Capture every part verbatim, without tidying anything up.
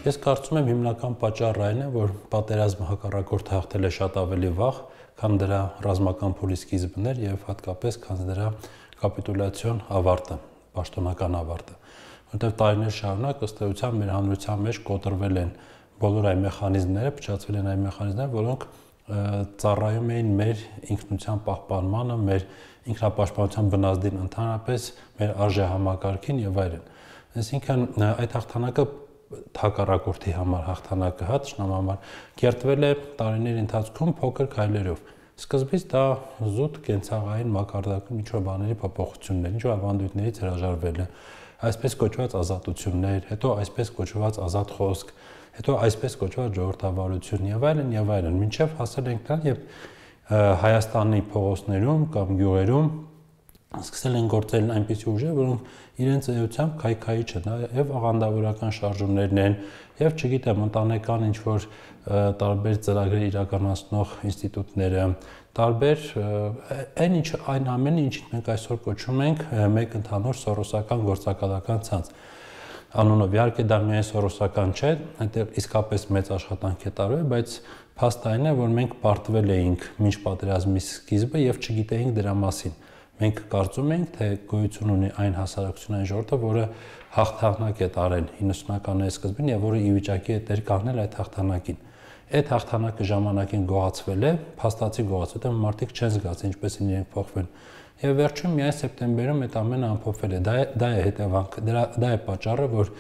Ես կարծում եմ հիմնական պատճառը այն է, որ պատերազմը հակառակորդը հաղթել է շատ ավելի վաղ, քան դրա ռազմական փուլի սկիզբն էր եւ հատկապես քան դրա կապիտուլյացիոն ավարտը, պաշտոնական ավարտը, որտեղ տարիներ շարունակ ըստ էության մեր հանրության մեջ կոտրվել են բոլոր այն մեխանիզմները, փչացվել են այն մեխանիզմները, որոնք ծառայում էին մեր ինքնության պահպանմանը, մեր ինքնապաշտպանության բնազդին, ընդհանրապես մեր արժեհամակարգին եւ այլն։ Այսինքն այդ հաղթանակը հակառակորդի համար հաղթանակը հա ճշնամու համար կերտվել է տարիների ընթացքում փոքր քայլերով։ Սկզբից դա զուտ կենցաղային մակարդակում ինչ-որ բաների փոփոխություններ, ինչ-որ ավանդույթներից հրաժարվելը, այսպես կոչված ազատություններ, հետո այսպես կոչված ազատ խոսք, հետո այսպես կոչված ժողովրդավարություն եւ այլն եւ այլն, մինչեւ հասել ենք դրան, երբ Հայաստանի փողոցներում կամ գյուղերում սկսել են գործել այնպիսի ուժեր, որոնք իրենց էությամբ քայքայիչ են եւ աղանդավորական շարժումներն են եւ չգիտեմ ընտանեկան ինչ որ տարբեր ծրագրեր իրականացնող ինստիտուտները, տարբեր այն ինչ այն ամենը, ինչին մենք այսօր կոչում ենք մեկ ընդհանուր սորոսական գործակալական ցանց։ Անունով իհարկե դա միայն սորոսական չէ, այնտեղ իսկապես մեծ աշխատանք է տարվել, բայց փաստը այն է, որ մենք պարտվել էինք մինչ պատերազմի սկիզբը եւ չգիտեինք դրա մասին։ Մենք կարծում ենք, թե գոյություն ունի այն հասարակությունային ժողովուրդը, որը հաղթանակ է տարել իննսունականների սկզբին եւ որը ի վիճակի է դեր կանգնել այդ հաղթանակին։ Այդ հաղթանակը ժամանակին գողացվել է, փաստացի գողացվել է, մարդիկ չեն զգացել ինչպես են իրենք փոխվել։ Եվ վերջում միայն սեպտեմբերում այդ ամենը ամփոփվել է։ Դա դա է հետևանքը, դրա դա է պատճառը, որ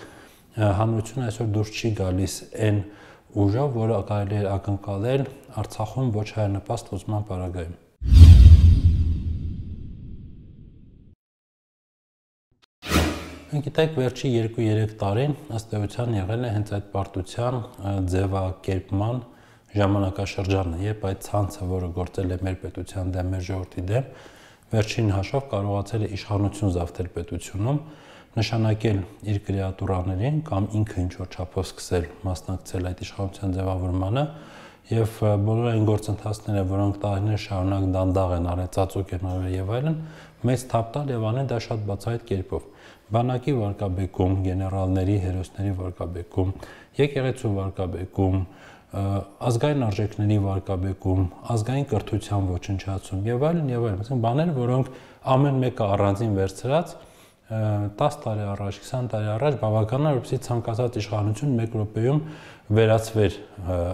հանրությունը այսօր դուրս չի գալիս այն ուժով, որը կարելի է ակնկալել Արցախում ոչ հայանպաստ լուծման պարագայում։ Գիտեք, վերջի երկու-երեք տարին ըստ էության եղել է հենց այդ պարտության ձևակերպման ժամանակաշրջանը, երբ այդ ցանցը, որը գործել է մեր պետության դեմ, մեր ժողովրդի դեմ, վերջին հաշվով կարողացել է իշխանություն զավթել պետությունում, նշանակել իր կրեատուրաներին կամ ինքը ինչ-որ չափով սկսել մասնակցել այդ իշխանության ձևավորմանը եւ բոլոր այն գործընթացները, որոնք տարիներ շարունակ դանդաղ են արել, ծածուկ են արել եւ այլն, մեծ թափ տալ եւ անել դա շատ բացահայտ կերպով։ Բանակի վարկաբեկում, գեներալների, հերոսների վարկաբեկում, եկեղեցու վարկաբեկում, ազգային արժեքների վարկաբեկում, ազգային կրթության ոչնչացում եւ այլն եւ այլն, այսինքն բաներ, որոնք ամեն մեկը առանձին վերցրած տասը տարի առաջ, քսան տարի առաջ բավական է, որպեսզի ցանկացած իշխանություն մեկ րոպեում վերացվեր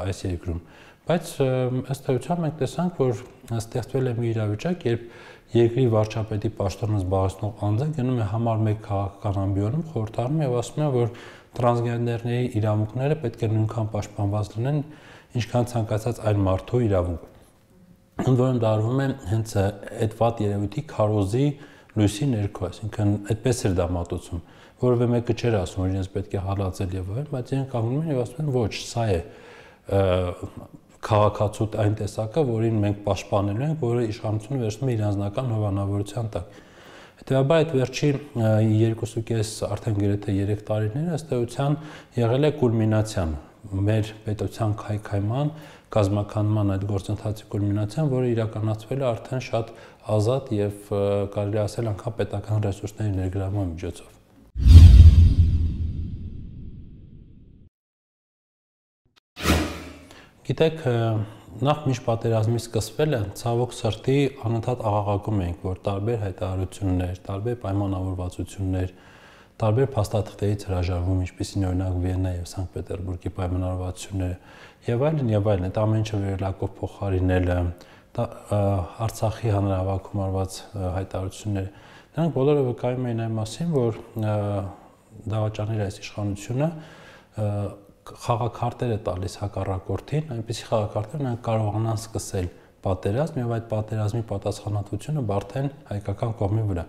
այս երկրում։ Բայց ըստ էության մենք տեսանք, որ ստեղծվել է մի իրավիճակ, երբ երկրի վարչապետի պաշտոնը զբաղեցնող անձը գնում է համար մեկ քաղաքական ամբիոնում, խորհրդարանում եւ ասում է, որ տրանսգենդերների իրավունքները պետք է նույնքան պաշտպանված լինեն, ինչքան ցանկացած այլ մարդու իրավունք։ Ընդ որում դա արվում է հենց այդ վատ երևույթի քարոզի լույսի ներքո, այսինքն այդպես էր դա մատուցում, որովե մեկը չէր ասում, որ իրենց պետք է հալածել եւ այլն, բայց իրենք կանգնում են եւ ասում են ոչ, սա է քաղաքացու այն տեսակը, որին մենք պաշտպանելու ենք, որը իշխանությունը վերցնում է իր անձնական հովանավորության տակ։ Հետևաբար այդ վերջի երկուսուկես արդեն գրեթե երեք տարիները ըստ էության եղել է կուլմինացիան, մեր պետության քայքայման, կազմականման այդ գործընթացի կուլմինացիան, որը իրականացվել է արդեն շատ ազատ եւ կարելի ասել անգամ պետական ռեսուրսների ներգրավման միջոցով։ Գիտեք, նախ մինչ պատերազմի սկսվելը ցավոք սրտի անընդհատ աղաղակում էինք, որ տարբեր հայտարարություններ, տարբեր պայմանավորվածություններ, տարբեր փաստաթղթերից հրաժարվում, ինչպիսին օրինակ Վիեննա եւ Սանկտ Պետերբուրգի պայմանավորվածությունները եւ այլն եւ այլն, այդ ամեն ինչը վերելակով փոխարինելը, Արցախի հանրահավաքում արված հայտարարությունները, դրանք բոլորը վկայում էին այն մասին, որ դավաճանիր այս իշխանությունը խաղաքարտեր է տալիս հակառակորդին, այնպիսի խաղաքարտեր նրանք կարողանան սկսել պատերազմ եւ այդ պատերազմի պատասխանատվությունը բարթեն հայկական կողմի վրա։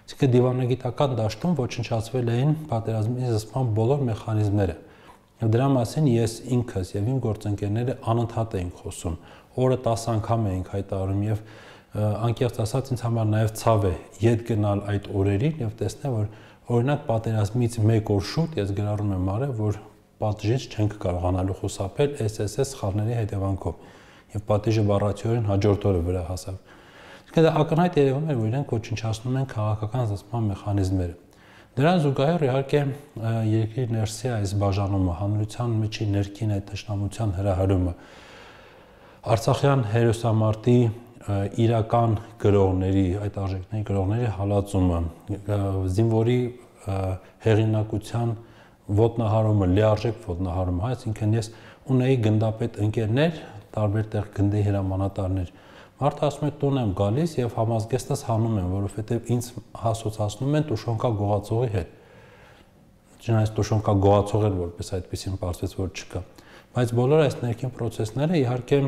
Այսինքն դիվանագիտական դաշտում ոչնչացվել էին պատերազմի զսպման բոլոր մեխանիզմները։ Եվ դրա մասին ես ինքս եւ իմ գործընկերները անընդհատ էինք խոսում, օրը տասը անգամ էինք հայտարարում եւ անկեղծ ասած ինձ համար նաեւ ցավ է ետ գնալ այդ օրերին եւ տեսնել, որ օրինակ պատերազմից մեկ օր շուտ ես գրառում եմ արել, որ պատժից չենք կարողանալու խուսափել էս էս էս սխալների հետևանքով եւ պատիժը բառացիորեն հաջորդ օրը վրա հասավ։ Իսկ դա ակնհայտ երևում էր, որ իրենք ոչնչացնում են քաղաքական զսպման մեխանիզմները։ Դրան զուգահեռ իհարկե երկրի ներսի այս բաժանումը, հանրության միջի ներքին այդ թշնամության հրահրումը, Արցախյան հերոսամարտի իրական գրողների, այդ արժեքների գրողների հալածումը, զինվորի հեղինակության ոտնահարումը, լիարժեք ոտնահարումը, այսինքն ես ունեի գնդապետ ընկերներ, տարբեր տեղ գնդի հրամանատարներ, մարդը ասում է տուն եմ գալիս եւ համազգեստս հանում եմ, որովհետեւ ինձ հասոցացնում են տուշոնկա գողացողի հետ։ Չնայած տուշոնկա գողացողը որպես այդպեսին պարզվեց, որ չկա։ Բայց բոլոր այս ներքին process-ները իհարկե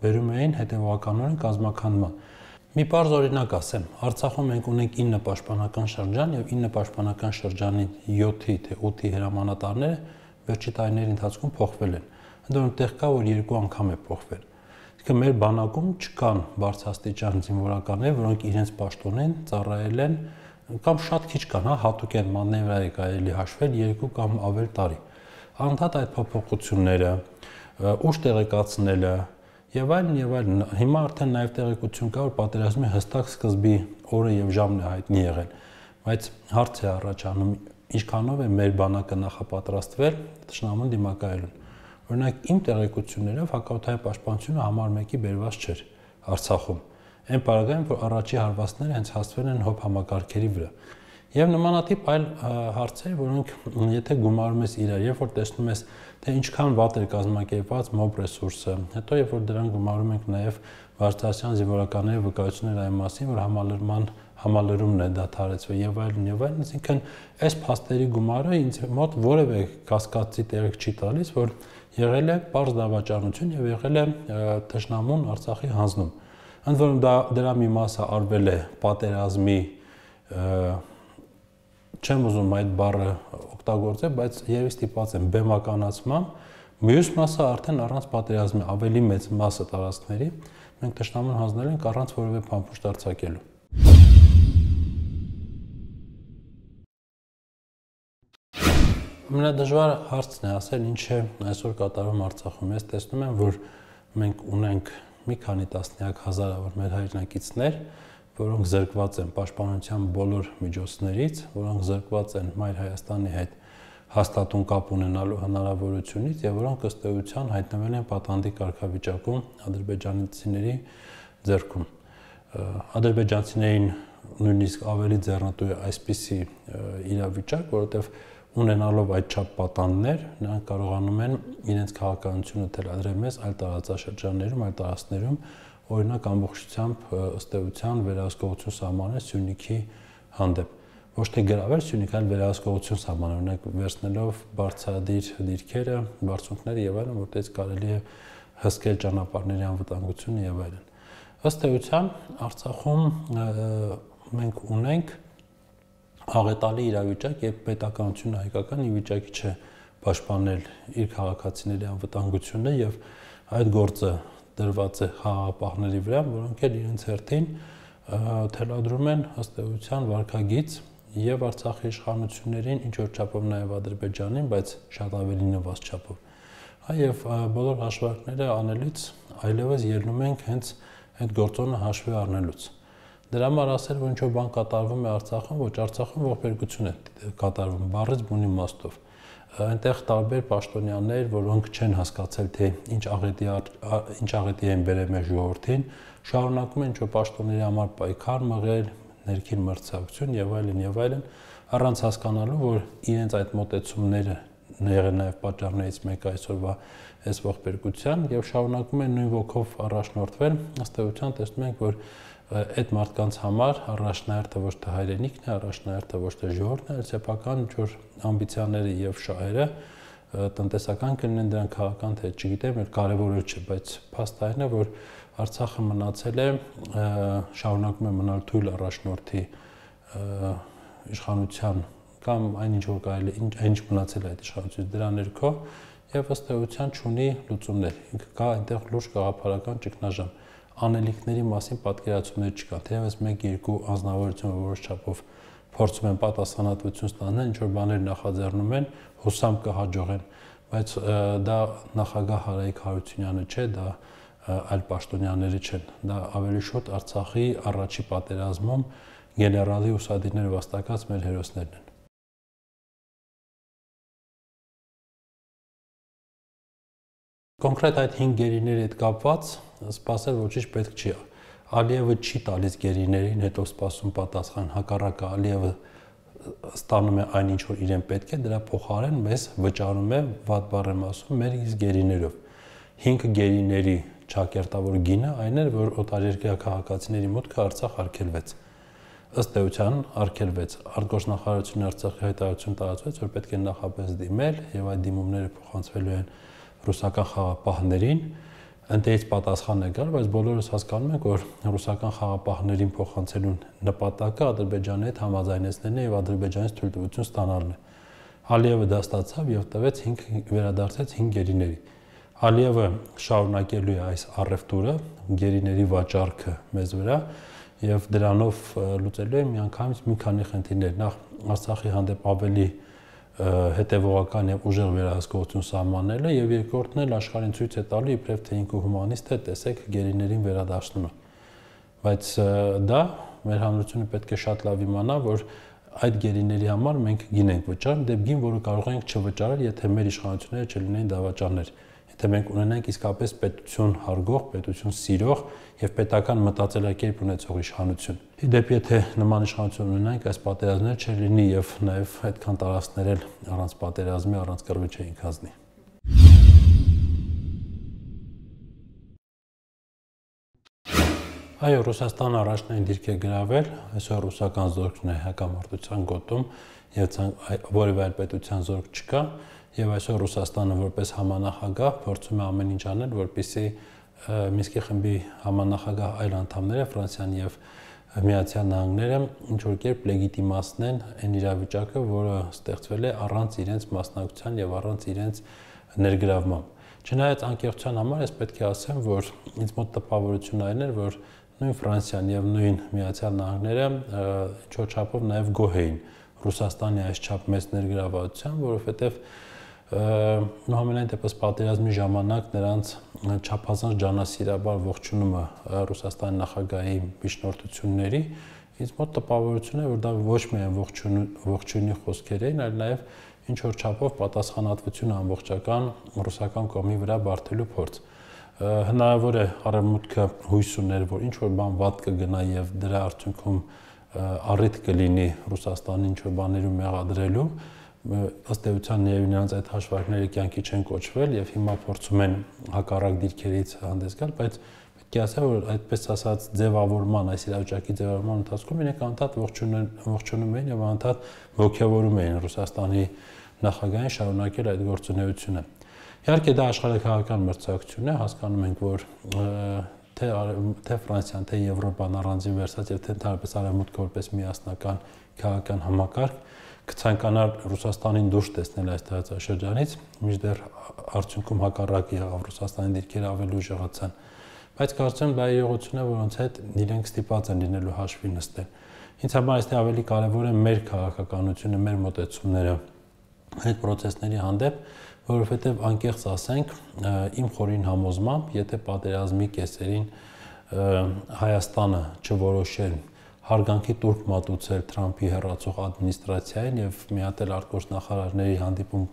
բերում էին հետևականորեն կազմաքանդման։ Մի պարզ օրինակ ասեմ, Արցախում մենք ունենք ինը պաշտպանական շրջան եւ ինը պաշտպանական շրջանի յոթի թե ութի հրամանատարները վերջի տարիների ընթացքում փոխվել են։ Ընդ որում տեղ կա, որ երկու անգամ է փոխվել։ Իսկ մեր բանակում չկան բարձրաստիճան զինվորականներ, որոնք իրենց պաշտոնին ծառայել են կամ շատ քիչ կան, հա, հատուկ են մանևրայի կարելի հաշվել երկու կամ ավել տարի։ Անդադ այդ փոփոխությունները, ուշ տեղեկացնելը եւ այլն եւ այլն, հիմա արդեն նաեւ տեղեկություն կա, որ պատերազմի հստակ սկզբի օրը եւ ժամն է հայտնի եղել, բայց հարց է առաջանում, ինչքանով է մեր բանակը նախապատրաստվել թշնամուն դիմակայելուն։ Օրինակ իմ տեղեկություններով հակաօդային պաշտպանությունը համար մեկի բերված չէր Արցախում։ Այն պարագայում, որ առաջի հարվածները հենց հասցվել են հոբ համակարգերի վրա։ Եվ նմանատիպ այլ հարցեր, որոնք եթե գումարում ես իրար, երբ որ տեսնում ես, թե ինչքան վատ էր կազմակերպված մոբ ռեսուրսը, հետո երբ որ դրան գումարում ենք նաև բարձրաստիճան զինվորականների վկայությունները այն մասին, որ համալրման համալրումն է դադարեցվել եւ այլն եւ այլն, այսինքն այս փաստերի գումարը ինձ մոտ որևէ կասկածի տեղիք չի տալիս, որ եղել է պարզ դավաճանություն եւ եղել է թշնամուն Արցախի հանձնում։ Ընդ որում դա դրա մի մասը արվել է պատերազմի, չեմ ուզում այդ բառը օգտագործել, բայց երևի ստիպված եմ բեմականացման, մյուս մասը արդեն առանց պատերազմի ավելի մեծ մասը տարածքների մենք թշնամուն հանձնել ենք առանց որևէ փամփուշտ արձակելու։ Ամենադժվար հարցն է ասել, ինչ է այսօր կատարվում Արցախում։ Ես տեսնում եմ, որ մենք ունենք մի քանի տասնյակ հազարավոր մեր հայրենակիցներ, որոնք զրկված են պաշտպանության բոլոր միջոցներից, որոնք զրկված են Մայր Հայաստանի հետ հաստատուն կապ ունենալու հնարավորությունից եւ որոնք ըստ էության հայտնվել են պատանդի կարգավիճակում ադրբեջանցիների ձեռքում։ Ադրբեջանցիներին նույնիսկ ավելի ձեռնտու է այսպիսի իրավիճակ, որովհետեւ ունենալով այդ չափ պատանդներ, նրանք կարողանում են իրենց քաղաքականությունը թելադրել մեզ այլ տարածաշրջաններում, այլ տարածքներում, օրինակ ամբողջությամբ ըստ էության վերահսկողություն սահմանել Սյունիքի հանդեպ։ Ոչ թե գրավել Սյունիք, այլ վերահսկողություն սահմանել, օրինակ վերցնելով բարձրադիր դիրքերը, բարձունքները եւ այլն, որտեղից կարելի է հսկել ճանապարհների անվտանգությունը եւ այլն։ Ըստ էության Արցախում մենք ունենք աղետալի իրավիճակ, երբ պետականությունը հայկական ի վիճակի չէ պաշտպանել իր քաղաքացիների անվտանգությունը եւ այդ գործը դրված է խաղաղապահների վրա, որոնք էլ իրենց հերթին թելադրում են ըստ էության վարքագիծ եւ Արցախի իշխանություններին, ինչ որ չափով նաեւ Ադրբեջանին, բայց շատ ավելի նվազ չափով։ Հա եւ բոլոր հաշվարկները անելուց այլևս ելնում ենք հենց այդ գործոնը հաշվի առնելուց։ Դրա համար ասել, որ ինչ-որ բան կատարվում է Արցախում, ոչ Արցախում ողբերգություն է կատարվում, բառից բուն իմաստով։ Այնտեղ տարբեր պաշտոնյաներ, որոնք չեն հասկացել, թե ինչ աղետի ինչ աղետի են բերել մեր ժողովրդին, շարունակում են ինչ-որ պաշտոնների համար պայքար մղել, ներքին մրցակցություն եւ այլն եւ այլն, առանց հասկանալու, որ իրենց այդ մոտեցումները եղել նաեւ պատճառներից մեկը այսօրվա այս ողբերգության եւ շարունակում են նույն ոգով առաջնորդվել, ըստ էության տեսնում ենք, որ այդ մարդկանց համար առաջնահերթը ոչ թե հայրենիքն է, առաջնահերթը ոչ թե ժողովուրդն է, այլ սեփական ինչ-որ ամբիցիաները եւ շահերը տնտեսական կլինեն, դրանք քաղաքական թե չգիտեմ, այլ կարեւորը չէ, բայց փաստը այն է, որ Արցախը մնացել է, շարունակում է մնալ թույլ առաջնորդի իշխանության կամ այնինչ որ կարելի այնինչ մնացել է այդ իշխանությունից դրա ներքո եւ ըստ էության չունի լուծումներ։ Ինքը կա այնտեղ լուրջ գաղափարական ճգնաժամ։ Անելիքների մասին պատկերացումներ չկան, թեև մեկ-երկու անձնավորություն որոշ չափով փորձում են պատասխանատվություն ստանալ, ինչ որ բաներ նախաձեռնում են, հուսամ կհաջողեն, բայց դա նախագահ Հարայիկ Հարությունյանը չէ, դա այլ պաշտոնյաները չեն, դա ավելի շուտ Արցախի առաջի պատերազմում գեներալի ուսադիրներ վաստակած մեր հերոսներն են։ Կոնկրետ այդ հինգ գերիների հետ կապված սպասել ոչինչ պետք չի։ Ալիևը չի տալիս գերիներին, հետո սպասում պատասխան, հակառակը Ալիևը ստանում է այն ինչ որ իրեն պետք է, դրա փոխարեն մեզ վճարում է, վատ բառ եմ ասում, մեր իսկ գերիներով։ հինգ գերիների ճակերտավոր գինը այն էր, որ օտարերկրյա քաղաքացիների մուտքը Արցախ արգելվեց։ Ըստ էության արգելվեց։ Արտգործնախարարությունը Արցախի հայտարարություն տարածվեց, որ պետք է նախապես դիմել եւ այդ դիմումները փոխանցվելու են ռուսական խաղապահներին, ընտերից պատասխան է գալ, բայց բոլորս հասկանում ենք, որ ռուսական խաղապահներին փոխանցելու նպատակը Ադրբեջանի հետ համաձայնեցնելն է եւ Ադրբեջանից թույլտվություն ստանալն է։ Ալիևը դա ստացավ եւ տվեց հինգ վերադարձեց հինգ գերիների։ Ալիևը շարունակելու է այս առևտուրը, գերիների վաճառքը մեզ վրա եւ դրանով լուծելու է միանգամից մի քանի խնդիրներ։ Նախ Արցախի հանդեպ ավելի հետևողական եւ ուժեղ վերահսկողություն սահմանելը եւ երկրորդն էլ աշխարհին ցույց է տալու իբրև թե ինքը հումանիստ է, տեսեք գերիներին վերադարձնում է։ Բայց դա մեր հանրությունը պետք է շատ լավ իմանա, որ այդ գերիների համար մենք գին ենք վճարում, դեպքին, որը կարող ենք չվճարել, եթե մեր իշխանությունները չլինեին դավաճաններ։ Եթե մենք ունենանք իսկապես պետություն հարգող, պետություն սիրող եւ պետական մտածելակերպ ունեցող իշխանություն։ Իդեպ եթե նման իշխանություն ունենանք, այս պատերազմները չլինի եւ նաեւ այդքան տարածքներ էլ առանց պատերազմի, առանց կռվի չէին կազմի։ Այո, Ռուսաստանը առաջնային դիրք է գրավել, այսօր ռուսական զորքն է հակամարտության գոտում եւ որևէ այլ պետության զորք չկա։ Եվ այսօր Ռուսաստանը որպես համանախագահ փորձում է ամեն ինչ անել, որպեսզի Մինսկի խմբի համանախագահ այլ անդամները Ֆրանսիան եւ Միացյալ Նահանգները ինչ որ կերպ լեգիտիմացնեն այն իրավիճակը, որը ստեղծվել է առանց իրենց մասնակցության եւ առանց իրենց ներգրավման։ Չնայած անկեղծության համար ես պետք է ասեմ, որ ինձ մոտ տպավորություն այն էր, որ նույն Ֆրանսիան եւ նույն Միացյալ Նահանգները ինչ-որ չափով նաեւ գոհ էին Ռուսաստանի այս չափ մեծ ներգրավվածության, որովհետեւ Համենայն դեպս պատերազմի ժամանակ նրանց չափազանց ջանասիրաբար ողջունումը Ռուսաստանի նախագահի միջնորդությունների ինձ մոտ տպավորություն է, որ դա ոչ միայն ողջույնի խոսքեր էին, այլ նաև ինչ որ չափով պատասխանատվություն ամբողջական ռուսական կողմի վրա բարթելու փորձ։ Հնարավոր է Արևմուտքը հույս ուներ, որ ինչ որ բան վատ կգնա եւ դրա արդյունքում առիթ կլինի Ռուսաստանի ինչ որ բաներում մեղադրելու, ըստ էության նրանց այդ հաշվարկները կյանքի չեն կոչվել եւ հիմա փորձում են հակառակ դիրքերից հանդես գալ, բայց պետք է ասեմ, որ այդպես ասած ձևավորման, այս իրավիճակի ձևավորման ընթացքում իրենք անդադ ողջունում էին եւ անդադ ողջավորում էին Ռուսաստանի նախագահին շարունակել այդ գործունեությունը։ Իհարկե դա աշխարհաքաղաքական մրցակցություն է, հասկանում ենք, որ թե թե Ֆրանսիան, թե Եվրոպան առանձին վերցած եւ թե ընդհանրապես Արևմուտքը որպես միասնական քաղաքական համակարգ կցանկանար Ռուսաստանին դուրս տեսնել այս տարածաշրջանից, մինչդեռ արդյունքում հակառակը եղավ, Ռուսաստանի դիրքերը ավելի ուժեղացան։ Բայց կարծեմ դա իրողություն է, որոնց հետ իրենք ստիպված են լինելու հաշվի նստել։ Ինձ համար այստեղ ավելի կարևոր է մեր քաղաքականությունը, մեր մոտեցումները այդ process-ների հանդեպ, որովհետև անկեղծ ասենք, իմ խորին համոզմամբ, եթե պատերազմի կեսերին Հայաստանը չորոշեր հարգանքի տուրք մատուցել Թրամփի հեռացող ադմինիստրացիային եւ միատել արտգործնախարարների հանդիպում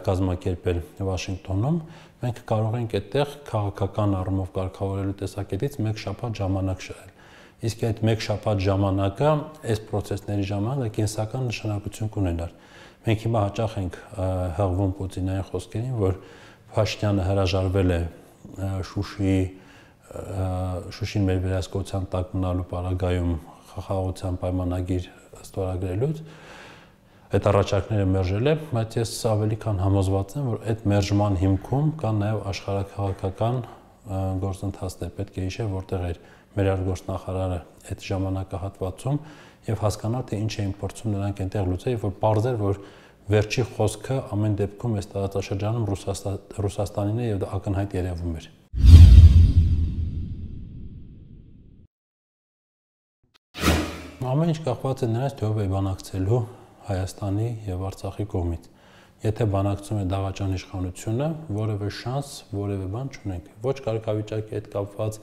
կազմակերպել Վաշինգտոնում, մենք կարող ենք այդտեղ քաղաքական առումով կարգավորելու տեսակետից մեկ շաբաթ ժամանակ շահել։ Իսկ այդ մեկ շաբաթ ժամանակը այս process-ների ժամանակ կենսական նշանակություն կունենար։ Մենք հիմա հաճախ ենք հղվում Պուտինային խոսքերին, որ Փաշինյանը հրաժարվել է Շուշիի Շուշին մեր վերահսկողության տակ մնալու պարագայում խաղաղության պայմանագիր ստորագրելուց, այդ առաջարկները մերժել է, բայց ես ավելի քան համոզված եմ, որ այդ մերժման հիմքում կան նաև աշխարհաքաղաքական գործընթացներ, պետք է հիշել, որտեղ էր մեր արտգործնախարարը այդ ժամանակահատվածում եւ հասկանալ, թե ինչ էին փորձում նրանք այնտեղ լուծել, եւ որ պարզ էր, որ վերջի խոսքը ամեն դեպքում այս տարածաշրջանում Ռուսաստանին է եւ դա ակնհայտ երևում էր։ Ամեն ինչ կախված է նրանից, թե ով է բանակցելու Հայաստանի եւ Արցախի կողմից։ եթե բանակցում է դավաճան իշխանությունը, որևէ շանս, որևէ բան չունենք։ Ոչ կարգավիճակի հետ կապված,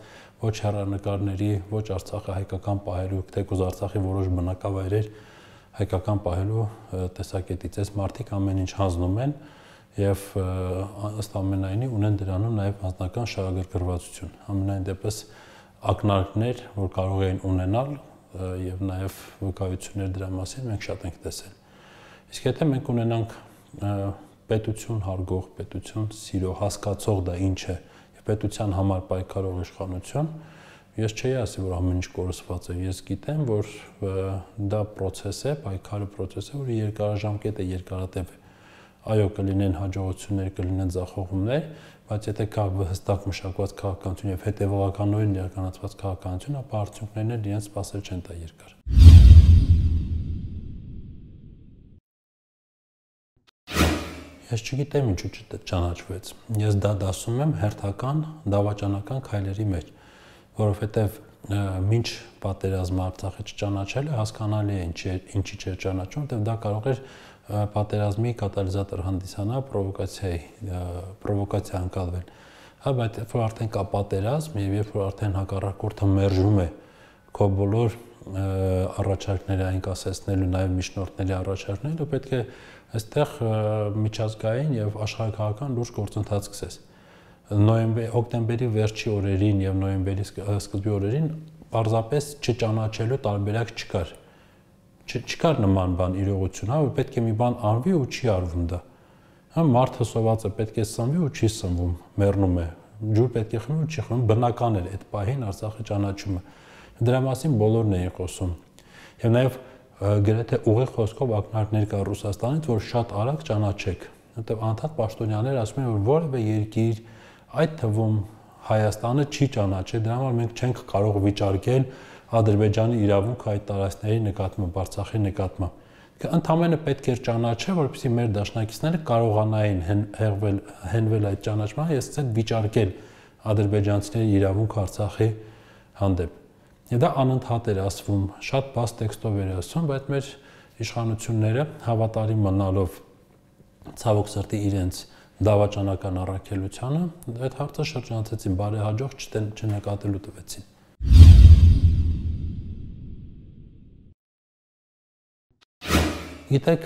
ոչ հեռանկարների, ոչ Արցախը հայկական պահելու, թեկուզ Արցախի որոշ բնակավայրեր հայկական պահելու տեսակետից այս մարդիկ ամեն ինչ հանձնում են եւ ըստ ամենայնի ունեն դրանում նաեւ հանձնական շահագրգռվածություն։ Ամենայն դեպս ակնարկներ, որ կարող էին ունենալ եւ նաեւ վկայություններ դրա մասին մենք շատ ենք տեսել։ Իսկ եթե մենք ունենանք պետություն հարգող, պետություն սիրող, հասկացող դա ինչ է եւ պետության համար պայքարող իշխանություն, ես չէի ասի, որ ամեն ինչ կորսված է։ Ես գիտեմ, որ դա process է, պայքարը process է, որը երկարաժամկետ է, երկարատև է։ Այո, կլինեն հաջողություններ, կլինեն ձախողումներ, բայց եթե կա հստակ մշակված քաղաքականություն եւ հետեւողականորեն իրականացված քաղաքականություն, ապա արդյունքներն էլ իրենց սпасել չեն տա երկար։ Ես չգիտեմ ինչու չճանաչվեց։ Ես դա դասում եմ հերթական դավաճանական քայլերի մեջ, որովհետեւ մինչ պատերազմը Արցախը չճանաչելը հասկանալի է ինչի ինչի չէր ճանաչում, որովհետեւ դա կարող էր պատերազմի կատալիզատոր հանդիսանա, պրովոկացիայի, պրովոկացիա անցալվել։ Հա, բայց երբ որ արդեն կա պատերազմ եւ երբ որ արդեն հակառակորդը մերժում է քո բոլոր առաջարկները այն կասեցնելու, նաեւ միջնորդների առաջարկները, պետք է այստեղ միջազգային եւ աշխարհակահաղական լուրջ գործընթաց սկսես։ Նոյեմբեր, հոկտեմբերի վերջի օրերին եւ նոյեմբերի սկզբի օրերին պարզապես չճանաչելու տարբերակ չկար։ Չկար նման բան իրողություն, հա, որ պետք է մի բան անվի ու չի արվում դա։ Հա, մարդը սոված է, պետք է սնվի ու չի սնվում, մեռնում է։ Ջուր պետք է խմի ու չի խմում, բնական էր այդ պահին Արցախը ճանաչումը։ Դրա մասին բոլորն էին խոսում։ Եվ նաեւ գրեթե ուղիղ խոսքով ակնարկներ կա Ռուսաստանից, որ շատ արագ ճանաչեք։ Որտեղ անդադ պաշտոնյաներ ասում են, որ որևէ երկիր, այդ թվում Հայաստանը չի ճանաչել, դրա համար մենք չենք կարող վիճարկել Ադրբեջանի իրավունքը այդ տարածքների նկատմամբ, Արցախի նկատմամբ։ Ընդամենը պետք էր ճանաչել, որպեսզի մեր դաշնակիցները կարողանային հեղվել, հենվել այդ ճանաչման, եւ սկսել վիճարկել ադրբեջանցիների իրավունքը Արցախի հանդեպ։ Եվ դա անընդհատ էր ասվում, շատ բաց տեքստով էր ասվում, բայց մեր իշխանությունները հավատարիմ մնալով ցավոք սրտի իրենց դավաճանական առաքելությանը, այդ հարցը շրջանցեցին, բարեհաջող չնկատելու տվեցին։ Գիտեք,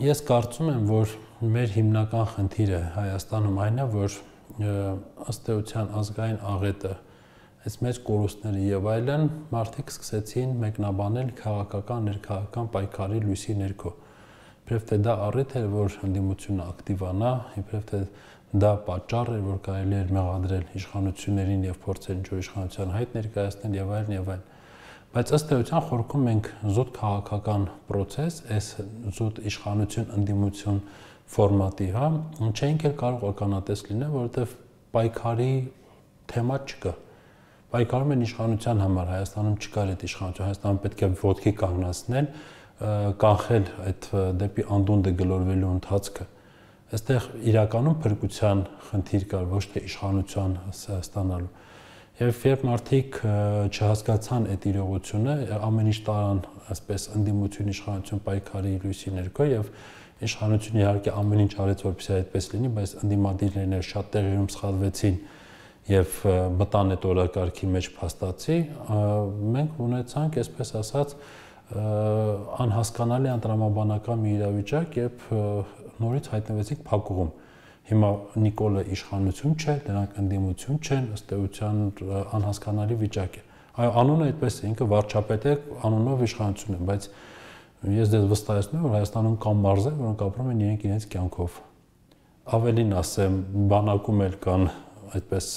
ես կարծում եմ, որ մեր հիմնական խնդիրը Հայաստանում այն է, որ ըստ էության ազգային աղետը, այս մեծ կորուստները եւ այլն մարդիկ սկսեցին մեկնաբանել քաղաքական, ներքաղաքական պայքարի լույսի ներքո։ Իբրև թե դա առիթ էր, որ ընդդիմությունը ակտիվանա, իբրև թե դա պատճառ էր, որ կարելի էր մեղադրել իշխանություններին եւ փորձել ինչ-որ իշխանության հայտ ներկայացնել եւ այլն եւ այլն։ Բայց ըստ էության խորքում մենք զուտ քաղաքական process, այս զուտ իշխանություն ընդդիմություն ֆորմատի, հա, չէինք էլ կարող ականատես լինել, որովհետեւ պայքարի թեմա չկա։ Պայքարում են իշխանության համար, Հայաստանում չկար այդ իշխանություն, Հայաստանում պետք է ոտքի կանգնացնել, կանխել այդ դեպի անդունդը գլորվելու ընթացքը։ Այստեղ իրականում փրկության խնդիր կար, ոչ թե իշխանության ստանալու։ Եվ երբ մարդիկ չհասկացան այդ իրողությունը, ամեն ինչ տարան այսպես ընդդիմություն իշխանություն պայքարի լույսի ներքո եւ իշխանությունը իհարկե ամեն ինչ արեց, որպեսզի այդպես լինի, բայց ընդդիմադիրներն շատ տեղերում սխալվեցին եւ մտան այդ օրակարգի մեջ փաստացի, մենք ունեցանք, այսպես ասած, անհասկանալի անտրամաբանական մի իրավիճակ, երբ նորից հայտնվեցինք փակուղում։ Հիմա Նիկոլը իշխանություն չէ, դրանք ընդդիմություն չեն, ըստ էության անհասկանալի վիճակ է։ Այո, անունը այդպես է, ինքը վարչապետ է, անունով իշխանություն է, բայց ես դες վստահեցնում եմ, որ Հայաստանում կան մարզեր, որոնք ապրում են իրենք իրենց կյանքով։ Ավելին ասեմ, բանակում էլ կան այդպես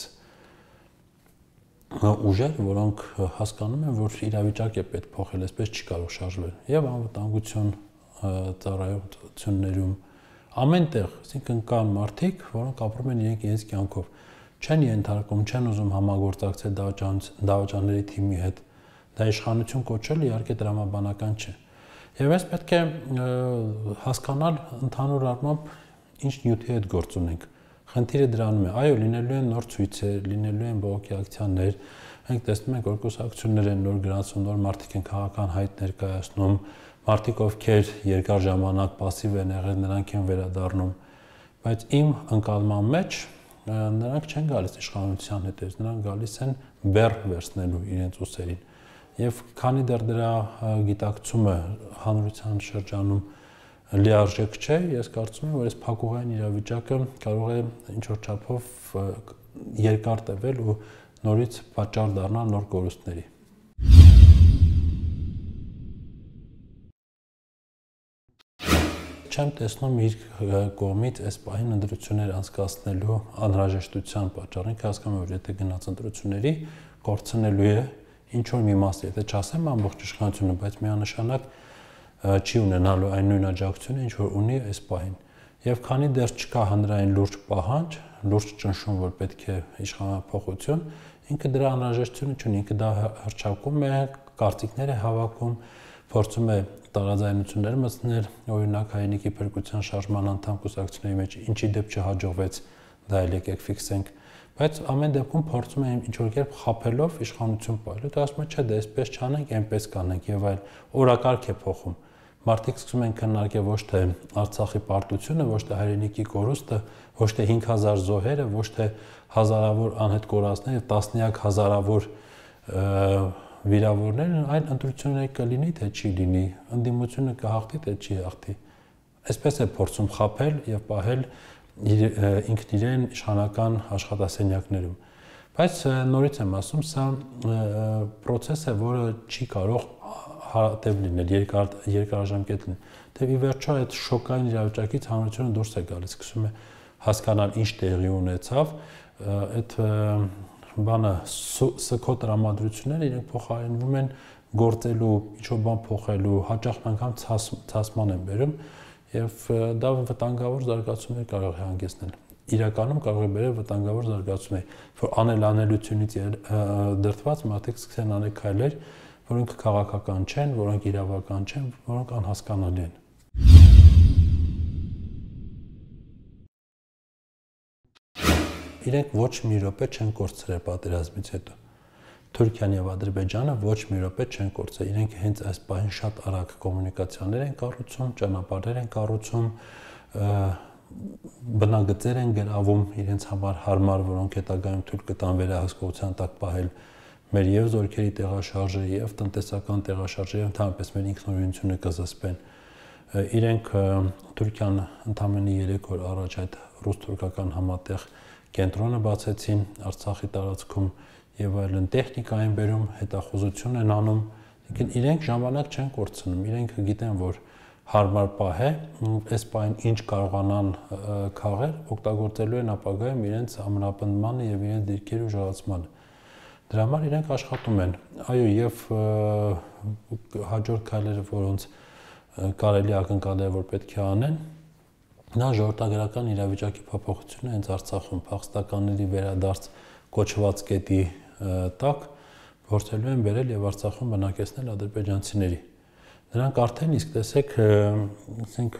ուժեր, որոնք հասկանում են, որ իրավիճակ է պետք փոխել, այսպես չի կարող շարժվել։ Եվ անվտանգություն ծառայություններում ամենտեղ, այսինքն կան մարդիկ, որոնք ապրում են իրենք իրենց կյանքով, չեն ենթարկում, չեն ուզում համագործակցել դավաճանների թիմի հետ։ Դա իշխանություն կոչելը իհարկե տրամաբանական չէ։ Եվ այս պետք է հասկանալ ընդհանուր առմամբ ինչ նյութի հետ գործ ունենք։ Խնդիրը դրանում է, այո, լինելու են նոր ցույցեր, լինելու են բողոքի ակցիաներ, մենք տեսնում ենք, որ կուսակցություններ են նոր գրանցում, նոր մարդիկ են քաղաքական հայտ ներկայացնում, մարդիկ, ովքեր երկար ժամանակ пассив են եղել, նրանք են վերադառնում, բայց իմ ընկալման մեջ նրանք չեն գալիս իշխանության հետևից, նրանք գալիս են բեռ վերցնելու իրենց ուսերին։ Եվ քանի դեռ դրա գիտակցումը հանրության շրջանում լիարժեք չէ, ես կարծում եմ, որ այս փակուղային իրավիճակը կարող է ինչ-որ չափով երկար տևել ու նորից պատճառ դառնալ նոր կորուստների։ Չեմ տեսնում իր կողմից այս պահին ընտրություններ անցկացնելու անհրաժեշտության պատճառին, հասկանում եմ, որ եթե գնաց ընտրությունների, կորցնելու է ինչ-որ մի մաս, եթե չասեմ ամբողջ իշխանությունը, բայց միանշանակ չի ունենալու այն նույն աջակցությունը, ինչ որ ունի այս պահին։ Եվ քանի դեռ չկա հանրային լուրջ պահանջ, լուրջ ճնշում, որ պետք է իշխանափոխություն, ինքը դրա անհրաժեշտությունը չունի, ինքը դա հռչակում է, կարծիքներ է հավաքում, փորձում է տարաձայնություններ մտցնել, օրինակ Հայրենիքի փրկության շարժման անդամ կուսակցությունների մեջ ինչի դեպ չհաջողվեց, դա էլ եկեք ֆիքսենք, բայց ամեն դեպքում փորձում է ինչ-որ կերպ խաբելով իշխանություն պահել, դա ասում է, չէ, դա այսպես չանենք, այնպես կանենք եւ այլ, օրակարգ է փոխում։ Մարդիկ սկսում են քննարկել ոչ թե Արցախի պարտությունը, ոչ թե Հայրենիքի կորուստը, ոչ թե հինգ հազար զոհերը, ոչ թե հազարավոր անհետ կորածները, տասնյակ հազարավոր վիրավորներ, այլ ընտրություններ կլինի, թե չի լինի, ընդդիմությունը կհաղթի, թե չի հաղթի։ Այսպես է փորձում խաբել եւ պահել ինքն իրեն իշխանական աշխատասենյակներում։ Բայց նորից եմ ասում, սա process է, որը չի կարող հարատև լինել, երկար երկարաժամկետ լինել։ Դե ի վերջո այդ շոկային իրավիճակից հանրությունը դուրս է գալիս, սկսում է հասկանալ ինչ տեղի ունեցավ, այդ բանը սքո տրամադրությունները իրենք փոխարինվում են գործելու, ինչ-որ բան փոխելու, հաճախ անգամ ցասման են բերում եւ դա վտանգավոր զարգացումներ կարող է հանգեցնել։ Իրականում կարող է բերել վտանգավոր զարգացումներ, որ անելանելությունից դրդված մարդիկ սկսեն անել քայլեր, որոնք քաղաքական չեն, որոնք իրավական չեն, որոնք անհասկանալի են։ Իրենք ոչ մի րոպե չեն կորցրել պատերազմից հետո։ Թուրքիան եւ Ադրբեջանը ոչ մի րոպե չեն կորցրել։ Իրենք հենց այս պահին շատ արագ կոմունիկացիաներ են կառուցում, ճանապարհներ են կառուցում, բնագծեր են գրավում իրենց համար հարմար, որոնք հետագայում թույլ կտան վերահսկողության տակ պահել մեր եւ զորքերի տեղաշարժը եւ տնտեսական տեղաշարժը եւ ընդհանրապես մեր ինքնուրույնությունը կզսպեն։ Իրենք Թուրքիան ընդամենը երեք օր առաջ այդ ռուս-թուրքական համատեղ կենտրոնը բացեցին Արցախի տարածքում եւ այլն, տեխնիկա են բերում, հետախուզություն են անում, लेकिन իրենք ժամանակ չեն կորցնում, իրենք գիտեն, որ հարմար պահ է, այս պահին ինչ կարողանան քաղել, օգտագործելու են ապագայում իրենց ամրապնդմանը եւ իրենց դիրքերի ուժեղացմանը։ Դրա համար իրենք աշխատում են։ Այո, եւ հաջորդ քայլերը, որոնց կարելի ակնկալել որ պետք է անեն, նա ժողովրդագրական իրավիճակի փոփոխությունը հենց Արցախում փախստականների վերադարձ կոչված կետի տակ փորձելու են բերել եւ Արցախում բնակեցնել ադրբեջանցիների։ Նրանք արդեն իսկ տեսեք, ասենք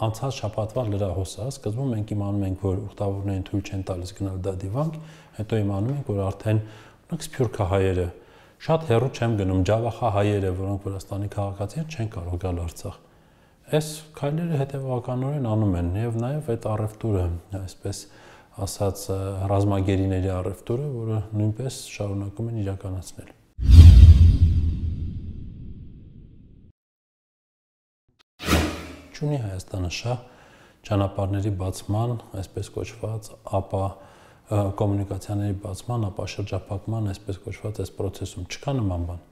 անցած շաբաթվա լրահոսա, սկզբում մենք իմանում ենք, որ ուխտավորներին թույլ չեն տալիս գնալ դա դիվանք, հետո իմանում ենք, որ արդեն օրինակ սփյուռքահայերը, շատ հեռու չեմ գնում, ջավախահայերը, որոնք Վրաստանի քաղաքացի են, չեն կարող գալ Արցախ։ Այս քայլերը հետևականորեն անում են եւ նաեւ այդ առևտուրը, այսպես ասած ռազմագերիների առևտուրը, որը նույնպես շարունակում են իրականացնել։ Չունի Հայաստանը շահ ճանապարհների բացման, այսպես կոչված, ապա կոմունիկացիաների բացման, ապա շրջափակման, այսպես կոչված, այս process-ում չկա նման բան։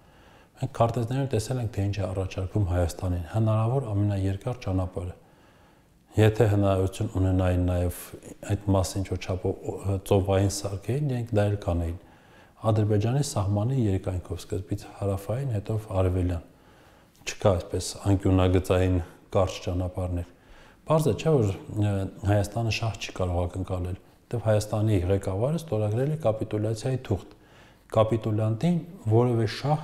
Մենք քարտեզներում տեսել ենք, թե ինչ է առաջարկում Հայաստանին, հնարավոր ամենաերկար ճանապարհը։ Եթե հնարավորություն ունենային նաև այդ մասը ինչ-որ չափով ծովային սարքեին, իրենք դա էլ կանեին։ Ադրբեջանի սահմանի երկայնքով, սկզբից հարավային, հետո արևելյան։ Չկա այսպես անկյունագծային կարճ ճանապարհներ։ Պարզ է, չէ՞ որ Հայաստանը շահ չի կարող ակնկալել, որտեղ Հայաստանի ղեկավարը ստորագրել է կապիտուլյացիայի թուղթ։ Կապիտուլյանտին որևէ շահ,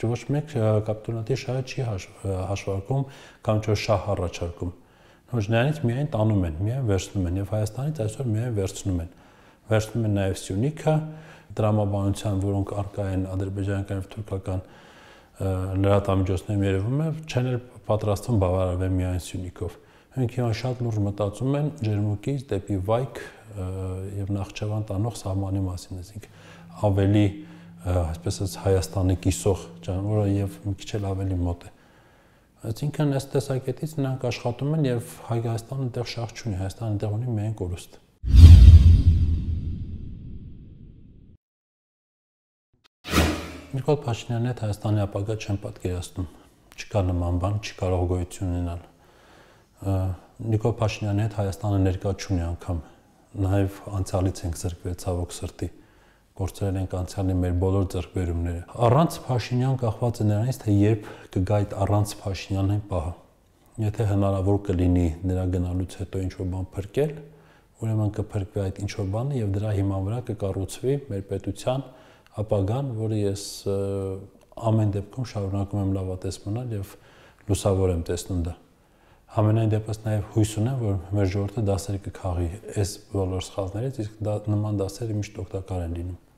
ոչ մեկ կապիտուլյանտի շահը չի հաշվարկում կամ ոչ շահ առաջարկում։ Ոչ նրանից միայն տանում են, միայն վերցնում են եւ Հայաստանից այսօր միայն վերցնում են։ Վերցնում են նաեւ Սյունիքը, դրամաբանության, որոնք առկա են ադրբեջանական եւ թուրքական լրատվամիջոցներում երևում է, չեն էլ պատրաստվում բավարարվել միայն Սյունիքով։ Մենք հիմա շատ լուրջ մտածում են Ջերմուկից դեպի Վայք եւ Նախճեվան տանող սահմանի մասին, այսինքն ավելի, այսպես ասած, Հայաստանի կիսող ճանապարհը եւ մի քիչ էլ ավելի մոտ է։ Այսինքն այս տեսակետից նրանք աշխատում են եւ Հայաստանը այդտեղ շահ չունի, Հայաստանը այդտեղ ունի միայն կորուստ։ Նիկոլ Փաշինյանի հետ Հայաստանի ապագա չեն պատկերացնում, չկա նման բան, չի կարող գոյություն ունենալ։ Նիկոլ Փաշինյանի հետ Հայաստանը ներկա չունի անգամ, նաեւ անցյալից ենք զրկվել ցավոք սրտի, գործել ենք անցյալի մեր բոլոր ձեռքբերումները։ Առանց Փաշինյան կախված է նրանից, թե երբ կգա այդ առանց Փաշինյանի պահը։ Եթե հնարավոր կլինի նրա գնալուց հետո ինչ-որ բան փրկել, ուրեմն կփրկվի այդ ինչ-որ բանը եւ դրա հիման վրա կկառուցվի մեր պետության ապագան, որը ես ամեն դեպքում շարունակում եմ լավատես մնալ եւ լուսավոր եմ տեսնում դա։ Համենայն դեպս նաեւ հույս ունեմ, որ մեր ժողովուրդը դասեր կքաղի այս բոլոր սխալներից, իսկ դա նման դասերը միշտ օգտակար են լինում։